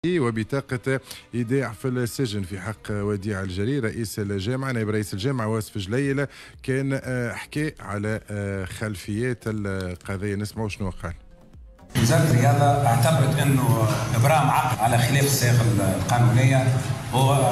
وبطاقة إيداع في السجن في حق وديع الجري رئيس الجامعة. نائب رئيس الجامعة واصف جليل كان حكى على خلفيات القضية، نسمعوا شنو قال. وزارة الرياضة اعتبرت أنه إبرام عقد على خلاف الصيغ القانونية هو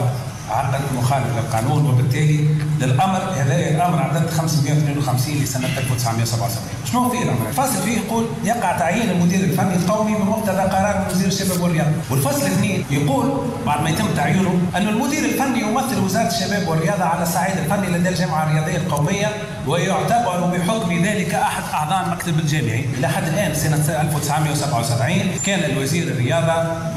عقد مخالف للقانون، وبالتالي للامر هذا الامر عدد 552 لسنه 1977. شنو فيه الامر؟ الفصل فيه يقول يقع تعيين المدير الفني القومي بمقتضى قرار وزير الشباب والرياضة، والفصل اثنين يقول بعد ما يتم تعيينه أن المدير الفني يمثل وزارة الشباب والرياضة على الصعيد الفني لدى الجامعة الرياضية القومية، ويعتبر بحكم ذلك احد اعضاء المكتب الجامعي. الى حد الان سنة 1977 كان الوزير الرياضة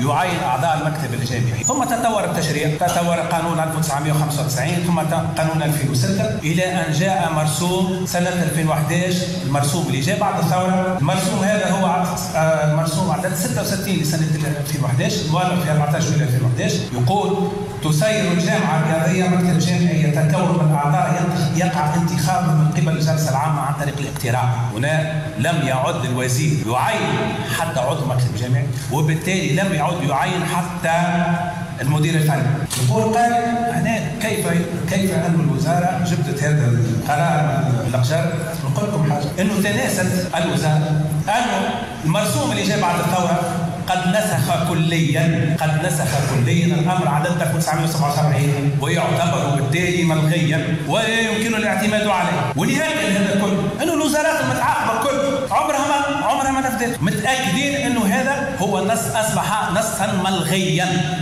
يعين اعضاء المكتب الجامعي، ثم تطور التشريع، تطور قانون 1995 ثم قانون 2006 الى ان جاء مرسوم سنة 2011، المرسوم اللي جاء بعد الثورة. المرسوم هذا هو المرسوم عدد 66 لسنه 2011 المؤلف في 14 جويلية 2011، يقول تسير الجامعة الرياضية مكتب جامعي يتكون من اعضاء يقع انتخابه من قبل الجلسة العامة عن طريق الاقتراع. هنا لم يعد الوزير يعين حتى عضو مكتب جامعي، وبالتالي لم يعد يعين حتى المدير الفني. يقول قال هنا كيف أن الوزارة جبدت هذا القرار من الأقجار؟ نقول لكم حاجة، أنه تناست الوزارة أنه المرسوم اللي جاء بعد الثورة قد نسخ كليا، قد نسخ كليا الامر عدد 1977 ويعتبر بالتالي ملغيا ولا يمكن الاعتماد عليه. ولهذا هذا كله انه الوزارات المتعاقبة كل عمرها ما نفذت، متاكدين انه هذا هو النص اصبح نصا ملغيا.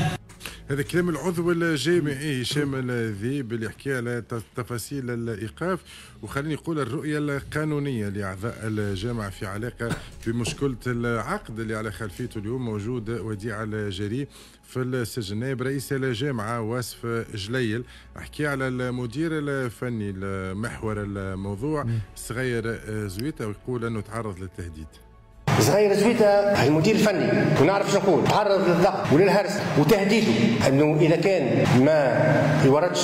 هذا كلام العضو الجامعي هشام الذيب اللي حكى على تفاصيل الايقاف، وخليني نقول الرؤية القانونية لاعضاء الجامعة في علاقة بمشكلة العقد اللي على خلفيته اليوم موجود وديع الجري في السجن. نائب رئيس الجامعة واصف جليل حكي على المدير الفني المحور الموضوع صغير زويته، ويقول انه تعرض للتهديد. صغير زويته المدير الفني، ونعرف شنو نقول، تعرض للضغط وللهرس وتهديده انه اذا كان ما يوردش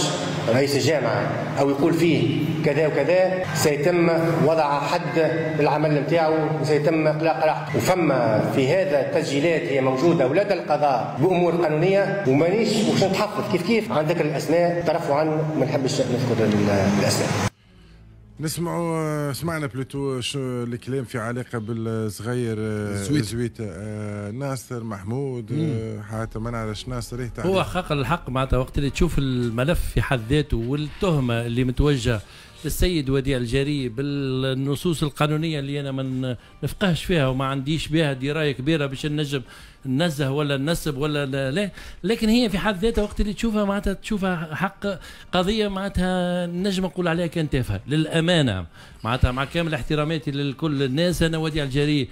رئيس الجامعة او يقول فيه كذا وكذا سيتم وضع حد للعمل نتاعو وسيتم اقلاق راحته. وفما في هذا التسجيلات هي موجودة ولدى القضاء بامور قانونية، ومانيش باش نتحفظ كيف كيف عن ذكر الاسماء، ترفعا ما نحبش نذكر الاسماء. نسمعوا سمعنا plutôt الكلام في علاقة بالصغير زويته. ناصر محمود حتى ما نعرفش ناصر ايه هو حق الحق معناتها وقت اللي تشوف الملف في حد ذاته والتهمه اللي متوجهه للسيد وديع الجري بالنصوص القانونية اللي انا ما نفقهش فيها وما عنديش بها دراية كبيرة باش نجم ننزه ولا ننسب ولا لا، لكن هي في حد ذاتها وقت اللي تشوفها معناتها تشوفها حق قضية معناتها نجم نقول عليها كان تافهة للامانة، معناتها مع كامل احتراماتي لكل الناس. انا وديع الجري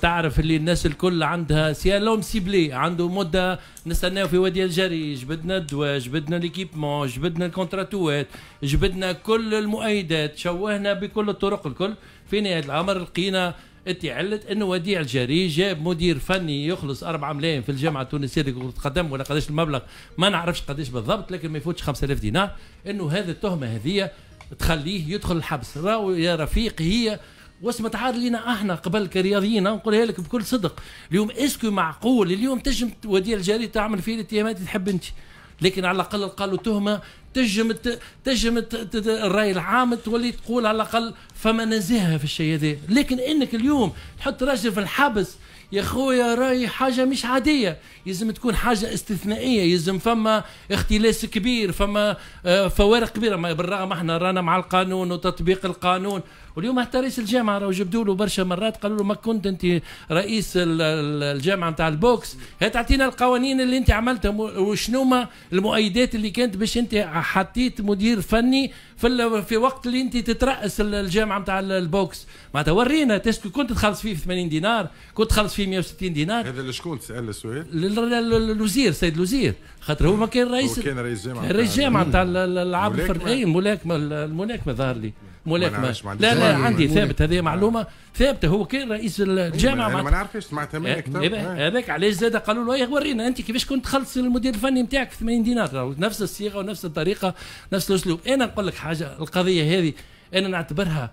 تعرف اللي الناس الكل عندها c'est l'homme ciblé، عنده مده نستناو في وديع الجري، جبدنا الدواء، جبدنا l'équipement، جبدنا الكونتراتوات، جبدنا كل المؤيدات، شوهنا بكل الطرق الكل. في نهاية الامر لقينا اتعلت انه وديع الجري جاب مدير فني يخلص 4 ملايين في الجامعة التونسية لكرة القدم، ولا قداش المبلغ ما نعرفش قداش بالضبط، لكن ما يفوتش 5000 دينار. انه هذه التهمة هذه تخليه يدخل الحبس. راهو يا رفيق هي واسمة عاد لينا احنا قبل كرياضيين، نقولها لك بكل صدق. اليوم est-ce que معقول اليوم تجم وديع الجري تعمل فيه الاتهامات اللي تحب انت، لكن على الاقل قالوا تهمه تجم الراي العام تولي تقول على الاقل فما نزاهة في الشيء هذا. لكن انك اليوم تحط راجل في الحبس يا خويا راي حاجة مش عادية، يلزم تكون حاجة استثنائية، يلزم فما اختلاس كبير، فما فوارق كبيرة. بالرغم احنا رانا مع القانون وتطبيق القانون، واليوم حتى رئيس الجامعة راهو جبدوا له برشا مرات قالوا له ما كنت انت رئيس الجامعة نتاع ال boxe، هي تعطينا القوانين اللي انت عملتها وشنو ما المؤيدات اللي كانت باش انت حطيت مدير فني في وقت اللي انت تترأس الجامعة نتاع ال boxe. معناتها ورينا est-ce que كنت تخلص فيه 80 دينار، كنت تخلص فيه 160 دينار. هذا لشكون تسال السؤال؟ للوزير، السيد الوزير، خاطر هو ما كان رئيس، هو كان رئيس جامعه، رئيس جامعه نتاع الالعاب الفردية، الملاكمة، الملاكمة ظهر لي ملاكمة. لا لا عندي ثابت، هذه معلومة ثابتة، هو كان رئيس الجامعة. انا ما نعرفش، سمعتها منك. هذاك علاش زاد قالوا له ورينا انت كيفاش كنت تخلص المدير الفني نتاعك في 80 دينار، نفس الصيغة ونفس الطريقة نفس الاسلوب. انا نقول لك حاجة، القضية هذه انا نعتبرها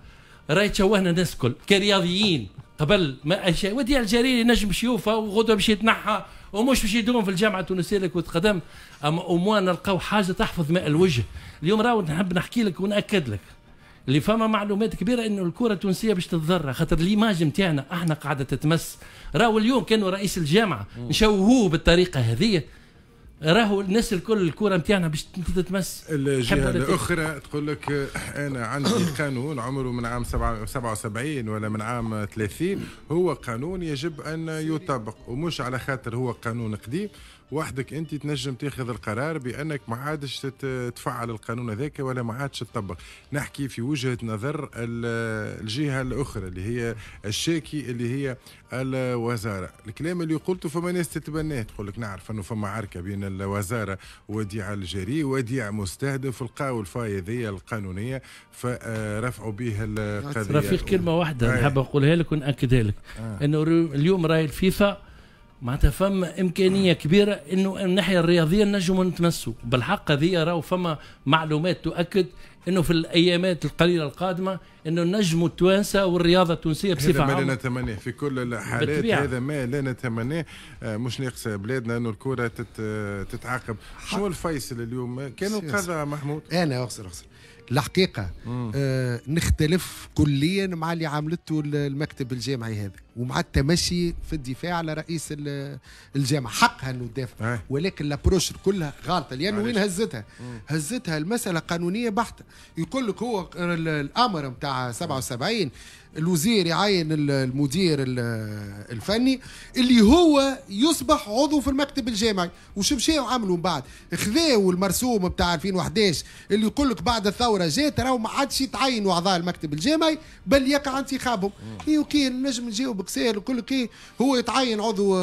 راهي تشوهنا الناس الكل كرياضيين قبل ما وديع الجريري نجم يشوفها وغدوه باش يتنحى ومش باش يدوم في الجامعة التونسية لكرة القدم، اما au moins نلقاو حاجة تحفظ ماء الوجه. اليوم راهو نحب نحكي لك وناكد لك اللي فما معلومات كبيرة انه الكره التونسية باش تتضرر، خاطر l'image نتاعنا احنا قاعدة تتمس. راهو اليوم كانوا رئيس الجامعة نشوهوه بالطريقة هذه، راهو الناس الكل الكره نتاعنا باش تتمس. الجهة الاخرى تقول لك انا عندي قانون عمره من عام 77 ولا من عام 30، هو قانون يجب ان يطبق، ومش على خاطر هو قانون قديم وحدك انت تنجم تاخذ القرار بانك ما عادش تفعل القانون هذاك ولا ما عادش تطبق. نحكي في وجهه نظر الجهة الاخرى اللي هي الشاكي اللي هي الوزارة. الكلام اللي قلته فما ناس تتبناه، تقول لك نعرف انه فما عركة بين الوزارة وديع الجري، وديع مستهدف، لقاو ال faille هذه القانونية فرفعوا به القضية. رفيق كلمة واحدة نحب نقولها لك وناكدها لك، انه اليوم راي الفيفا معناتها فما امكانية كبيرة انه من الناحية الرياضية نجموا نتمسوا بالحق هذه. راهو فما معلومات تؤكد انه في الايامات القليلة القادمة انه نجموا التوانسة والرياضة التونسية بصفة عامة. هذا ما لا نتمناه في كل الحالات، هذا ما لا نتمناه. مش ناقص بلادنا انه الكره تتعاقب. شنو الفيصل اليوم؟ كانوا القضاء محمود. انا اغسر الحقيقة نختلف كليا مع اللي عملته المكتب الجامعي هذا، ومع التمشي في الدفاع على رئيس الجامعة. حقها انه تدافع، ولكن l'approche كلها غلطه، لانه وين هزتها؟ هزتها المسالة قانونية بحته. يقول لك هو الامر نتاع 77 الوزير يعين المدير الفني اللي هو يصبح عضو في المكتب الجامعي. وش مشاو عملوا من بعد؟ خذاو المرسوم بتاع 2011 اللي يقول لك بعد الثورة جات راهو ما عادش يتعينوا اعضاء المكتب الجامعي بل يقع انتخابهم. اي OK نجم نجاوبك ساهل، يقول لك إيه هو يتعين عضو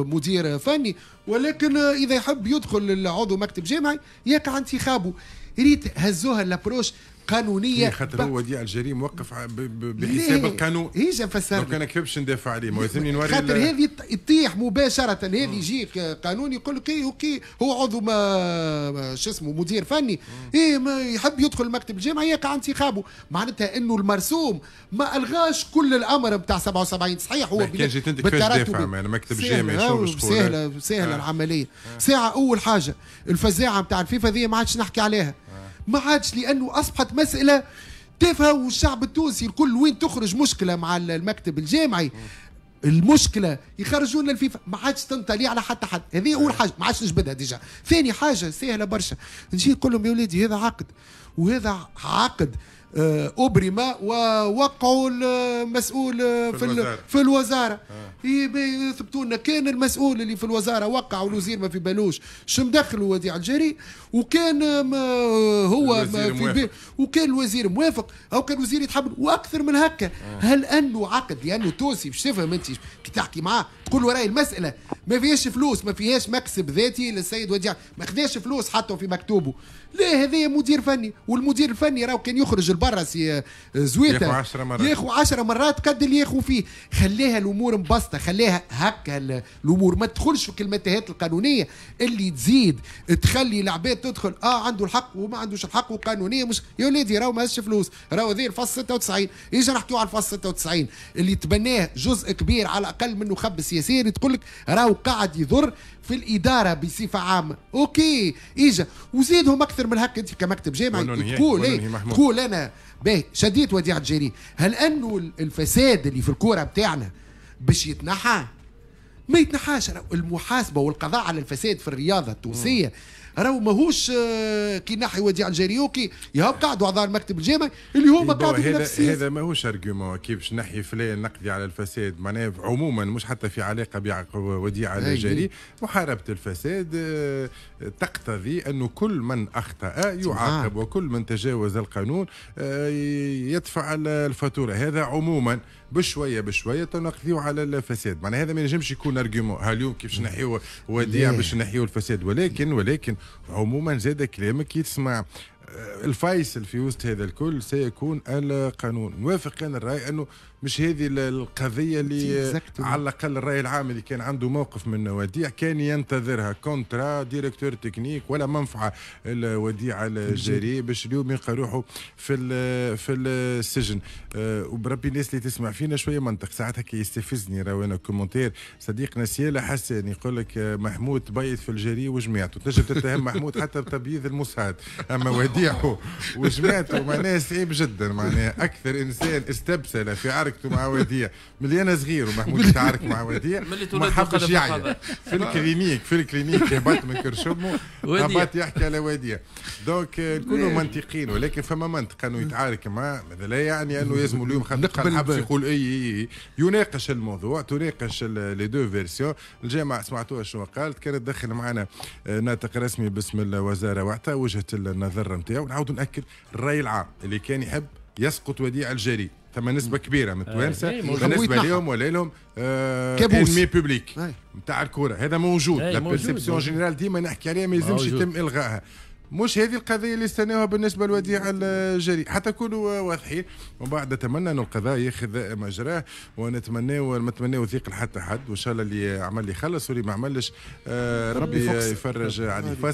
مدير فني، ولكن اذا يحب يدخل عضو مكتب جامعي يقع انتخابه. ريت هزوها l'approche قانونية، خاطر هو وديع الجري موقف بحساب القانون. ايش نفسر لو كان كيفاش ندافع عليه؟ ما لازمني نوري، خاطر هذه تطيح مباشرة. هذه يجيك قانون يقول لك إيه OK هو عضو ما شو اسمه مدير فني، ايه ما يحب يدخل المكتب الجامعي يقع انتخابه. معناتها انه المرسوم ما الغاش كل الامر نتاع 77. صحيح هو كان جيت انت كيفاش تدافع المكتب الجامعي؟ شنو باش تقول؟ سهلة العملية. ساعة اول حاجة الفزاعه نتاع الفيفا ذي ما عادش نحكي عليها، ما عادش، لانه اصبحت مسالة تافهة. والشعب التونسي الكل وين تخرج مشكلة مع المكتب الجامعي المشكلة يخرجونا الفيفا، ما عادش تنطلي على حتى حد. هذه اول حاجة ما عادش نجبدها déjà. ثاني حاجة سهلة برشا، نجي نقول لهم يا ولادي هذا عقد، وهذا عقد أبرم ووقعوا المسؤول في الوزارة. يثبتوا لنا كان المسؤول اللي في الوزارة وقع والوزير ما في بالوش شو مدخلوا وديع الجري، وكان هو في وكان الوزير موافق او كان الوزير يتحمل واكثر من هكا. هل انه عقد؟ لانه تونسي باش تفهم انت كي تحكي معاه تقول له راهي المسالة ما فيهاش فلوس، ما فيهاش مكسب ذاتي للسيد وديع، ما خذاش فلوس حطه في مكتوبة. لا هذا مدير فني، والمدير الفني راهو كان يخرج لبرا سي زويته ياخذ 10 مرات قد اللي ياخذ فيه. خليها الامور مبسطة، خليها هكا الامور، ما تدخلش في المتاهات القانونية اللي تزيد تخلي العباد تدخل عنده الحق وما عندوش الحق وقانونيه. مش يا ولادي راهو ما هزش فلوس، راهو هذا الفصل 96. اجا نحكيو على الفصل 96 اللي تبناه جزء كبير على الاقل منه خب سياسيا، تقول لك راهو قاعد يضر في الادارة بصفة عامة. OK اجا وزيدهم اكثر من هكا. انت كمكتب جامعي تقول ايه؟ تقول انا باهي شديت وديع الجري. هل انه الفساد اللي في الكورة بتاعنا باش يتنحى؟ ما يتنحاش. المحاسبة والقضاء على الفساد في الرياضة التونسية راهو ماهوش كي نحي وديع الجري OK يهب قعدوا اعضاء المكتب الجامعي اللي هما قعدوا في نفس هذا ماهوش argument كيفاش نحي فلان نقضي على الفساد، معناها عموما مش حتى في علاقة بوديع الجري. محاربة الفساد تقتضي انه كل من اخطا يعاقب وكل من تجاوز القانون يدفع الفاتورة. هذا عموما بشوية بشوية تنقضيو على الفساد، معناها هذا ما ينجمش يكون argument اليوم كيفاش نحيو وديع باش نحيو الفساد، ولكن عموما زاد كلامك يتسمع. الفيصل في وسط هذا الكل سيكون القانون. نوافق انا الراي انه مش هذه القضية اللي على الاقل الراي العام اللي كان عنده موقف من وديع كان ينتظرها، contrat directeur technique ولا منفعه الوديع الجري باش اليوم يلقى روحه في السجن. وبربي الناس اللي تسمع فينا شوية منطق، ساعات هكا يستفزني راهو انا commentaire صديقنا سياله حسن يقول لك محمود تبيض في الجري وجماعته، تنجم تتهم محمود حتى بتبييض الموساد، اما وديعة وجماعته معناها صعيب جدا. معناها اكثر انسان استبسل في عركته مع وديع ملي صغير، ومحمود يتعارك مع وديع ما حبش يعيا في ال clinique هبط من كرش امو هبط يحكي على وديع. donc نكونوا منطقيين، ولكن فما منطق انه يتعارك معاه، هذا لا يعني انه لازم اليوم خاطر الحبس يقول اي اي اي. يناقش الموضوع، تناقش les deux versions. الجامعة سمعتوها شنو قالت، كانت دخل معنا ناطق رسمي باسم الوزارة واعطى وجهه النظر نتاعو. نعاود ناكد الراي العام اللي كان يحب يسقط وديع الجري، ثم نسبه كبيرة من التوانسة بالنسبة لهم ولا لهم ennemi public نتاع الكورة، هذا موجود. la perception générale ديما نحكي عليها، ما يلزمش يتم الغائها. مش هذه القضية اللي استناوها بالنسبة لوديع الجري، حتى كونوا واضحين. ومن بعد نتمنى أن القضاء ياخذ مجراه، ونتمناو ما نتمناو ضيق لحتى حد، وإن شاء الله اللي عمل يخلص واللي ما عملش ربي يفرج عليه.